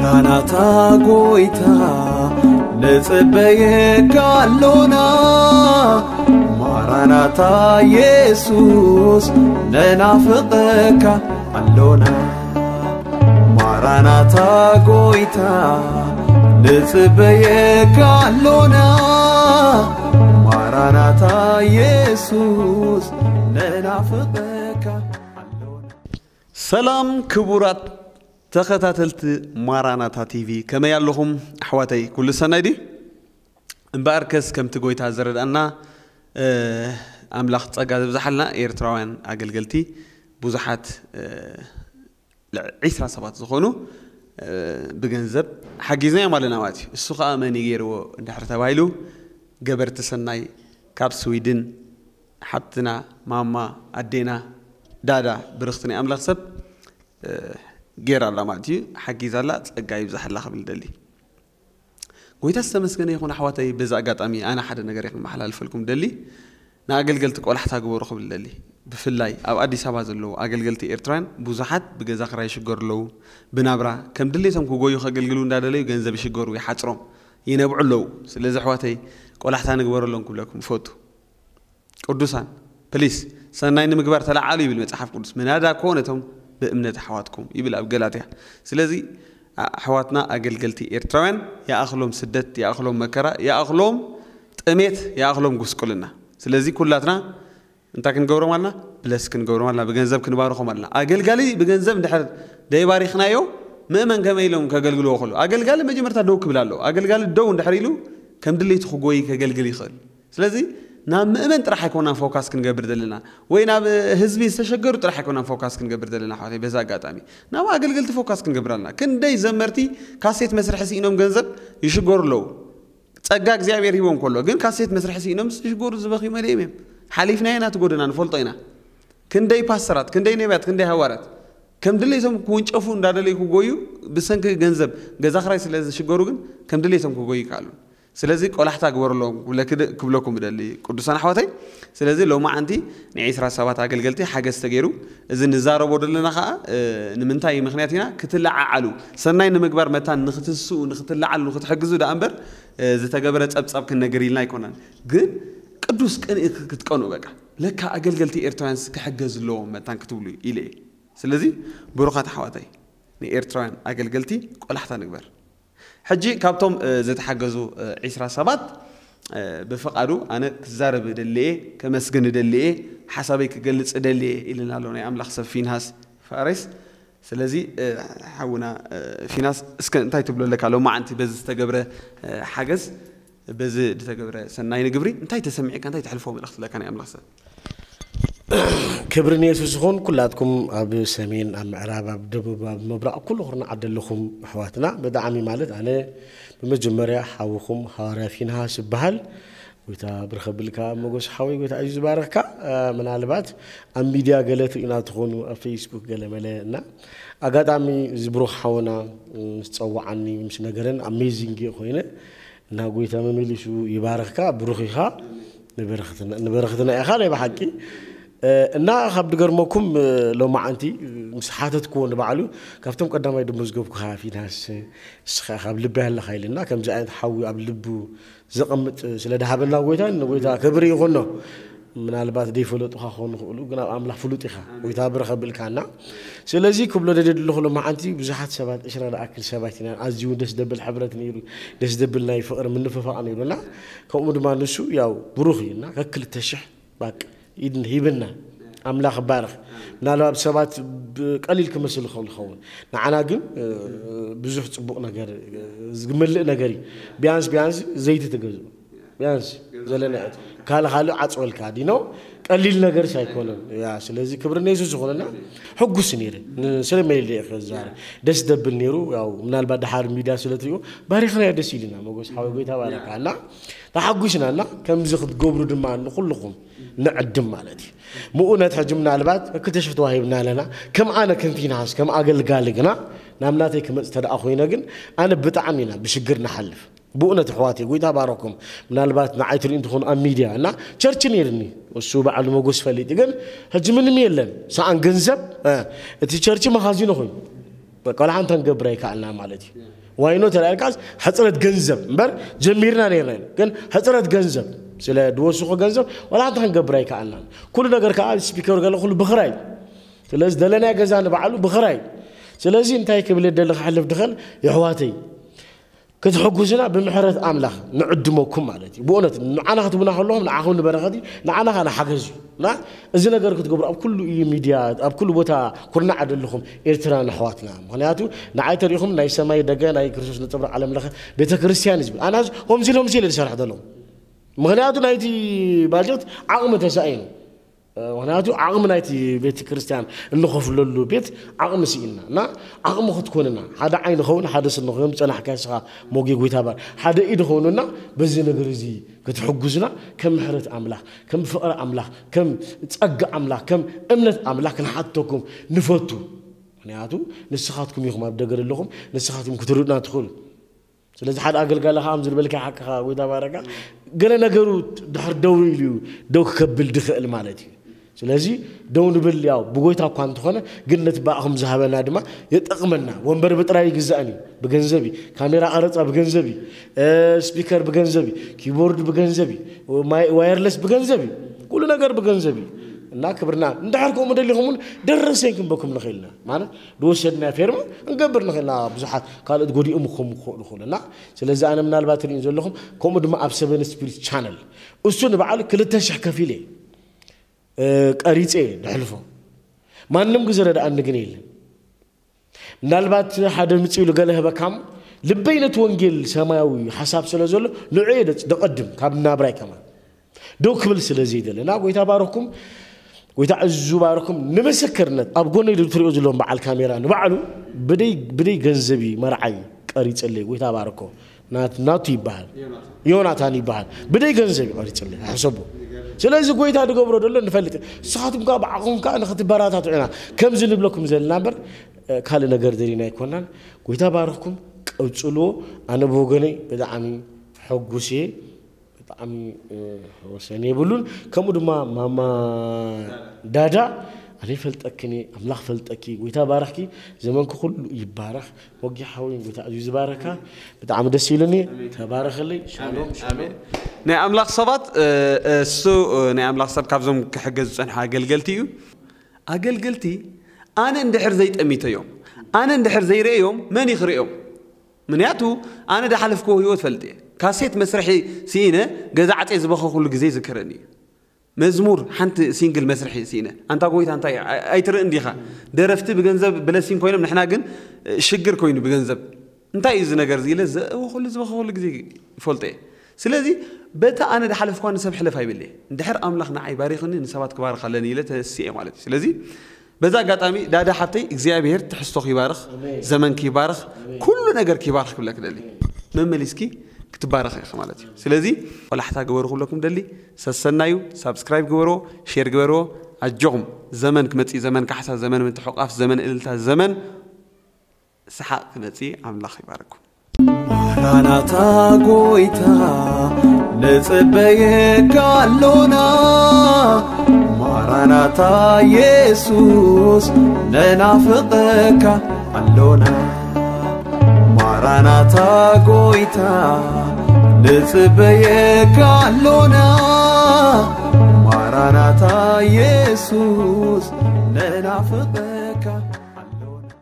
ማራናታ ጎይታ ንጽበየካ ኣሎና። ማራናታ የሱስ ነናፍቐካ ኣሎና። ማራናታ ጎይታ ንጽበየካ ኣሎና። ማራናታ የሱስ ነናፍቐካ ኣሎና። ሰላም ክቡራት ተኸታተልቲ ማራናታ ቲቪ፣ ከመይ ኣለኹም ኣሕዋተይ? ኩሉ ሰናይ ድዩ? እምበኣርከስ ከምቲ ጎይታ ዝረድኣና፣ እ፣ ኣምላኽ ጸጋ ዘብዝሓልና። ኤርትራውያን ኣገልገልቲ ብዙሓት፣ እ፣ ልዕ-፣ ዒስራ ሰባት ዝኾኑ፣ እ፣ ብገንዘብ ሓጊዝናዮም ኣለና ማለት እዩ። እሱ ኸኣ መን እዩ ገይርዎ እንድሕር ተባሂሉ፣ ገበርቲ ሰናይ ካብ ስዊድን ሓብትና ማማ ኣዴና ዳዳ ብርኽቲ ናይ ኣምላኽ ሰብ፣ እ፣ ገይራ ኣላ ማለት እዩ። ሓጊዛ ኣላ። ጸጋ ይብዛሓላ ክብል ደሊ። ጎይታ ዝተመስገነ ይኹን ኣሕዋተይ። በዚ ኣጋጣሚ ኣነ ሓደ ነገር እየ ክመሓላልፈልኩም ደሊ። ንኣገልገልቲ ቆላሕታ ግበሩ ክብል ደሊ። ብፍላይ ኣብ ኣዲስ ኣበባ ዘለዉ ኣገልገልቲ ኤርትራውያን ብዙሓት ብገዛ ክራይ ይሽገሩ ኣለዉ። ብናብራ ከም ድሌቶም ክጎዩ ከገልግሉ እንዳደለዩ ገንዘብ ይሽገሩ፣ ይሓጽሮም፣ ይነብዑ ኣለዉ። ስለዚ ኣሕዋተይ ቆላሕታ ንግበረሎም ክብለኩም እፈቱ። ቅዱሳን ፕሊስ ሰናይ ንምግባር ተለዓሉ ይብል መጽሓፍ ቅዱስ። ምናዳ ኮ ነቶም ብእምነት ኣሕዋትኩም ይብል ኣብ ገላትያ። ስለዚ ኣሕዋትና ኣገልገልቲ ኤርትራውያን ይኣኽሎም ስደት፣ ይኣኽሎም መከራ፣ ይኣኽሎም ጥሜት፣ ይኣኽሎም ጉስቁልና። ስለዚ ኩላትና እንታይ ክንገብሮም ኣልና? ብለስ ክንገብሮም ኣልና፣ ብገንዘብ ክንባርኾም ኣልና። ኣገልጋሊ ብገንዘብ እንድሕር ደይባሪኽናዮ ምእመን ከመይ ኢሎም ከገልግልዎ ከሎ? ኣገልጋሊ መጀመርታ ደው ክብል ኣለዎ። ኣገልጋሊ ደው እንድሕር ኢሉ ከም ድሌቱ ክጎይ ከገልግል ይኽእል። ስለዚ ናብ ምእመን ጥራሕ ኣይኮናን ፎካስ ክንገብር ዘለና፣ ወይ ናብ ህዝቢ ዝተሸገሩ ጥራሕ ኣይኮናን ፎካስ ክንገብር ዘለና። ኣሕዋተይ፣ በዚ ኣጋጣሚ ናብ ኣገልገልቲ ፎካስ ክንገብር ኣለና። ክንደይ ዘመርቲ ካሴት መስርሒ ስኢኖም ገንዘብ ይሽገሩ ኣለዉ። ጸጋ እግዚኣብሔር ሂቦም ከሎ ግን ካሴት መስርሒ ስኢኖም ዝሽገሩ ዝበኽዩ መሊኦም እዮም። ሓሊፍናዮ ኢና፣ እቲ ጎደና ንፈልጦ ኢና። ክንደይ ፓስተራት፣ ክንደይ ነቢያት፣ ክንደይ ሃዋርያት ከም ድሌቶም ክውንጨፉ እንዳደለዩ ክጎዩ ብሰንኪ ገንዘብ ገዛ ክራይ ስለ ዝሽገሩ ግን ከም ድሌቶም ክጎዩ ይከኣሉ። ስለዚ ቆላሕታ ግበረሎም ክብለክ-፣ ክብለኩም እደሊ ቅዱሳን ኣሕዋተይ። ስለዚ ሎማዓንቲ ንዒስራ ሰባት ኣገልገልቲ ሓገዝ ተገይሩ፣ እዚ ንዛረቦ ዘለና ኸዓ፣ እ፣ ንምንታይ ምኽንያት ኢና ክትለዓዓሉ፣ ሰናይ ንምግባር መታን ንኽትስኡ፣ ንኽትለዓሉ፣ ንኽትሕግዙ ደኣ እምበር፣ እ፣ ዝተገበረ ጸብጻብ ክንነግር ኢልና ኣይኮናን። ግን ቅዱስ ቅንኢ ክ-፣ ክትቀንኡ በቃ። ለካ ኣገልገልቲ ኤርትራውያንስ ክሕገዝ ኣለዎም መታን ክትብሉ ኢለ እየ። ስለዚ ብሩኻት ኣሕዋተይ፣ ንኤርትራውያን ኣገልገልቲ ቆላሕታ ንግበር። ሕጂ ካብቶም፣ እ፣ ዝተሓገዙ፣ እ፣ ዒስራ ሰባት፣ እ፣ ብፍቓዱ ኣነ ክዛረብ እደሊ እየ፣ ከመስግን እደሊ እየ፣ ሓሳበይ ክገልጽ እደሊ እየ ኢልና ኣሎ ናይ ኣምላኽ ሰብ ፊንሃስ ፋሬስ። ስለዚ፣ እ፣ ሓውና፣ እ፣ ፊናስ፣ እስከ እንታይ ትብሎ ኣለካ ሎማዓንቲ በዚ ዝተገብረ፣ እ፣ ሓገዝ፣ በዚ ዝተገብረ ሰናይ ንግብሪ እንታይ ተሰሚዕካ፣ እንታይ ተሕልፎ መልእኽቲ ኣለካ ናይ ኣምላኽ ሰብ? ክብሪ ንየሱስ ይኹን። ኩላትኩም ኣብ ሰሜን፣ ኣብ ምዕራብ፣ ኣብ ደቡብ፣ ኣብ ምብራቕ ኩሉ ኩርናዓት ዘለኹም ኣሕዋትና ብጣዕሚ ማለት ኣነ ብመጀመርያ ሓውኹም ሃዋርያ ፊንሃስ ይበሃል። ጎይታ ብርኸ ብልካ ሞጎስ ሓወይ፣ ጎይታ እዩ ዝባረኽካ። እ፣ ምናልባት ኣብ ሚድያ ገለ ትርእዩና ትኾኑ፣ ኣብ ፌስቡክ ገለ መለ እና ኣጋጣሚ እዚ ብሩኽ ሓውና ምስ ጸዋዓኒ ምስ ነገረን ኣሜዚንግ እየ ኮይነ እና ጎይታ መመሊሱ ይባርኽካ። ብሩኽ ኢኻ፣ ንበረኽትና ንበረኽትና ኢኻ ናይ ብሓቂ። እ፣ እና ካብ ድገርመኩም፣ እ፣ ሎማዓንቲ ምስ ሓተትክዎ ንባዕሉ ካብቶም ቀዳማይ ደመዝገብኩኻ ፊናስ እስኻ ኢኻ ኣብ ልበይ ኣለኻ ኢልና ከምዚ ዓይነት ሓዊ ኣብ ልቡ ዘቐምጥ ስለ ድሃበና ጎይታ ንጎይታ ክብሪ ይኹኖ። ምናልባት ደይፈለጡኻ ክኾኑ ይኽእሉ ግን ኣብ ኣምላኽ ፍሉጥ ኢኻ። ጎይታ ብርኸ ብልካና። ስለዚ ክብሎ ደደሊ ኣለኹ ሎማዓንቲ ብዙሓት ሰባት ዕስራ ዝኣክል ሰባት ኢና ኣዝዩ እውን ደስ ደብል ሕብረት ነይሩ። ደስ ደብል ናይ ፍቕሪ ምንፍፋቕ ነይሩና። ከምኡ ድማ ንሱ ያው ብሩኽ እዩ እና ከክልተ ሽሕ ባቅ ኢድ ሂብና ኣምላኽ ባርኽ። ምናልባት ሰባት ብቀሊል ክመስል ይኽእል ይኸውን ንዓና ግን እ፣ ብዙሕ ጽቡቕ ነገር እ፣ ዝመልእ ነገር እዩ። ቢያንስ ቢያንስ ዘይቲ ትገዝኡ ቢያንስ ዘለና ካልእ ካልእ ዓጽወልካ ዲኖ ቀሊል ነገር ሳይኮነን ያ ስለዚ ክብሪ ነየሱስ ዝኾነና ሕጉስ ነይረ። ስለመይለ ክዛረ ደስ ደብል ነይሩ። ያው ምናልባት ድሓር ሚድያ ስለትሪኦ ባሪኽናዮ ደስ ኢልና ሞጎስ ሓወ ጎይታ ባረካ እና ተሓጒስና እና ከምዚ ክትገብሩ ድማ ንኩልኹም ንዕድም ማለት እዩ። ብእውነት ሕጂ ምናልባት ክልተ ሽሕ ተዋሂብና ኣለና ከም ኣነ ከም ፊንሃስ ከም ኣገልጋሊ ግና ናብ ናተይ ክመፅ ተደኣ ኮይነ ግን ኣነ ብጣዕሚ ኢና ብሽግር ንሓልፍ። ብእውነት ኣሕዋት ጎይታ ባረኩም። ምናልባት ንዓይ ትሪኡ እንትኾኑ ኣብ ሚድያ እና ቸርች ነይርኒ እሱ በዓል መጎስ ፈሊጥ ግን ሕጂ ምንም የለን ሰኣን ገንዘብ እቲ ቸርች መኻዚኖ ኮይኑ በቃ ዋላ ሓንቲ ክንገብር ኣይከኣልና ማለት እዩ። ዋይኖ ተላልካስ ሕፅረት ገንዘብ እምበር ጀሚርና ነርና ኢና። ግን ሕፅረት ገንዘብ ስለ ድወስኹ ገንዘብ ዋላ ሓንቲ ክንገብር ኣይከኣልናን። ኩሉ ነገር ከዓ ስፒከር ገለ ኩሉ ብኽራይ። ስለዚ ደለናይ ገዛ ንባዕሉ ብኽራይ። ስለዚ እንታይ ክብል ደሊ ክሓልፍ ድኸል የሕዋተይ ክትሕጉስና ብምሕረት ኣምላኽ ንዕድመኩም ማለት እዩ። ብእውነት ንዓና ክትቡና ከለኹም ንዓኹም ንበረኸት እዩ፣ ንዓና ከዓ ንሓገዝ እዩ። እና እዚ ነገር ክትገብሩ ኣብ ኩሉ እዩ ሚድያ ኣብ ኩሉ ቦታ ኩርናዕ ደለኹም ኤርትራን ኣሕዋትና። ምኽንያቱ ንዓይ ተሪኹም ናይ ሰማይ ደገ ናይ ክርስቶስ ነጸብራቕ ዓለም ለኸ ቤተ ክርስቲያን እዩ ዝብል። ኣና ሆምሲል ሆምሲል ዝሰርሕ ዘለኹ ምኽንያቱ ናይቲ ባጀት ዓቕሚ ተሳኢኑ። ምኽንያቱ ዓቕሚ ናይቲ ቤተ ክርስቲያን እንኸፍለሉ ቤት ዓቕሚ ስኢልና እና ዓቕሚ ክትኮንና ሓደ ዓይኒ ኸውን ሓደ ስኒ ኸውን ጸናሕካ ስኻ ሞጌ ጎይታ ባር ሓደ ኢድ ኸውንና በዚ ነገር እዚ ክትሕጉዝና ከም ምሕረት ኣምላኽ ከም ፍቕሪ ኣምላኽ ከም ጸጋ ኣምላኽ ከም እምነት ኣምላኽ ክንሓተኩም ንፈቱ። ምኽንያቱ ንስኻትኩም ኢኹም ኣብ ደገ ዘለኹም ንስኻትኩም ክትርዱና ትኽእሉ። ስለዚ ሓደ ኣገልጋሊ ከዓ ዝልበልካ ሓቅኻ ጎይታ ባረካ ገለ ነገሩ ድሕር ደው ኢሉ እዩ ደው ክከብል ድኽእል ማለት እዩ። ስለዚ ደው ንብል ያው ብጎይታ እኳ እንተኾነ ግን ነቲ ብኣኹም ዝሃበና ድማ የጠቕመና። ወንበር ብጥራይ ይግዛእን እዩ ብገንዘብ እዩ። ካሜራ ቀረፃ ብገንዘብ እዩ። ስፒከር ብገንዘብ እዩ። ኪቦርድ ብገንዘብ እዩ። ዋየርለስ ብገንዘብ እዩ። ኩሉ ነገር ብገንዘብ እዩ። እና ክብርና እንድሕር ከምኡ ደሊኹም እውን ደረሰኝ ክንበኩም ንኽእልና ማለት ዝወሰድና ፌርማ እንገብር ንኽእልና ብዙሓት ካልኦት ጎዲኦም ክኾኑ ክኽእሉ ይኽእሉ እና ስለዚ ኣነ ምናልባት ትሪኡ ዘለኹም ከምኡ ድማ ኣብ ሰቨን ስፒሪት ቻነል እሱ ንባዕሉ ክልተ ሽሕ ከፊለ ቀሪፀ ድሕልፎ ማንም ግዜ ረድኣኒ ግን የለን። ምናልባት ሓደ ምፅእ ኢሉ ገለ ህበካም ልበይ ነቲ ወንጌል ሰማያዊ ሓሳብ ስለ ዘሎ ንዑ ደቐድም ካብ ናብራይ ከማን ደው ክብል ስለ ዘይደለ እና ጎይታ ባረኩም። ጎይታ ዕዙ ባረኩም ንምስክርነት ኣብ ጎነይ ትሪኦ ዘለዎም በዓል ካሜራ ንባዕሉ ብደይ ብደይ ገንዘብ እዩ መርዓይ ቀሪፅለይ ጎይታ ባረኮ ናት- ናቱ ይበሃል ዮናታን ይበሃል ብደይ ገንዘብ እዩ ቀሪፅለይ ሕሰቡ። ስለዚ ጎይታ ዝገብሮ ዘሎ ንፈልጥ ንስኻትኩም ከዓ ብዓኹም ከዓ ንክትበራታትዑ ኢና ከምዚ ንብለኩም ዘለና እምበር ካልእ ነገር ደሊና ኣይኮናን። ጎይታ ባረኩም ቀፅልዎ። ኣነ ብወገነይ ብጣዕሚ ሕጉስ እየ። ብጣዕሚ ወሰን የብሉን። ከምኡ ድማ ማማ ዳዳ ኣነ ይፈልጠክን እየ ኣምላኽ ፈልጠኪ ጎይታ ባረኽኪ። ዘመንኪ ኩሉ ይባረኽ። ሞጊ ሓወይ ጎይታ ኣዝዩ ዝባረካ። ብጣዕሚ ደስ ኢሉኒ። ተባረኸለይ። ሻሎም ሻሎም። ናይ ኣምላኽ ሰባት እሱ ናይ ኣምላኽ ሰብ ካብዞም ክሕገዝ ዝፀንሑ ኣገልገልቲ እዩ። ኣገልገልቲ ኣነ እንድሕር ዘይጠሚተዮም ኣነ እንድሕር ዘይርእዮም መን ይኽርእዮም? ምክንያቱ ኣነ ዳሓለፍክዎ ህይወት ፈልጥ እየ። ካሴት መስርሒ ስኢነ ገዛ ዓፅየ ዝበኸኹሉ ግዜ ይዝከረኒ እዩ። መዝሙር ሓንቲ ሲንግል መስርሒ ስኢነ ኣንታ ጎይታ እንታይ ኣይትርእን ዲኻ? ደረፍቲ ብገንዘብ ብለሲን ኮይኖም ንሕና ግን ሽግር ኮይኑ ብገንዘብ እንታይ እዩ እዚ ነገር እዚ ኢለ ዘእወኹሉ ዝበኸኹሉ ግዜ ይፈልጦ እየ። ስለዚ በታ ኣነ ዳሓለፍክዋ ንሰብ ሕለፍ ኣይብል እየ። እንድሕር ኣምላኽ ንዓይ ባሪኽኒ ንሰባት ክባርኽ ኣለኒ ኢለ ተነሲኤ ማለት እዩ። ስለዚ በዚ ኣጋጣሚ ዳዳ ሓብተይ እግዚኣብሄር ትሕዝቶኺ ይባርኽ፣ ዘመንኪ ይባርኽ፣ ኩሉ ነገርኪ ይባርኽ ክብለኪ ደሊ። መመሊስኪ ክትባረኺ ኢኺ ማለት እዩ። ስለዚ ቆላሕታ ግበሩ ክብለኩም ደሊ። ሰሰናዩ ሳብስክራይብ ግበርዎ፣ ሼር ግበርዎ። ኣጆኹም ዘመን ክመጽእ ዘመን ካሕሳ ዘመን ምትሕቋፍ ዘመን እልልታ ዘመን ሰሓቕ ክመጽእ ኣምላኽ ይባርኩም። ማራናታ ጎይታ ንጽበየካ ኣሎና። ማራናታ የሱስ ንናፍቐካ ኣሎና። ማራናታ ጎይታ ንጽበየካ ኣሎና። ማራናታ የሱስ ንናፍቐ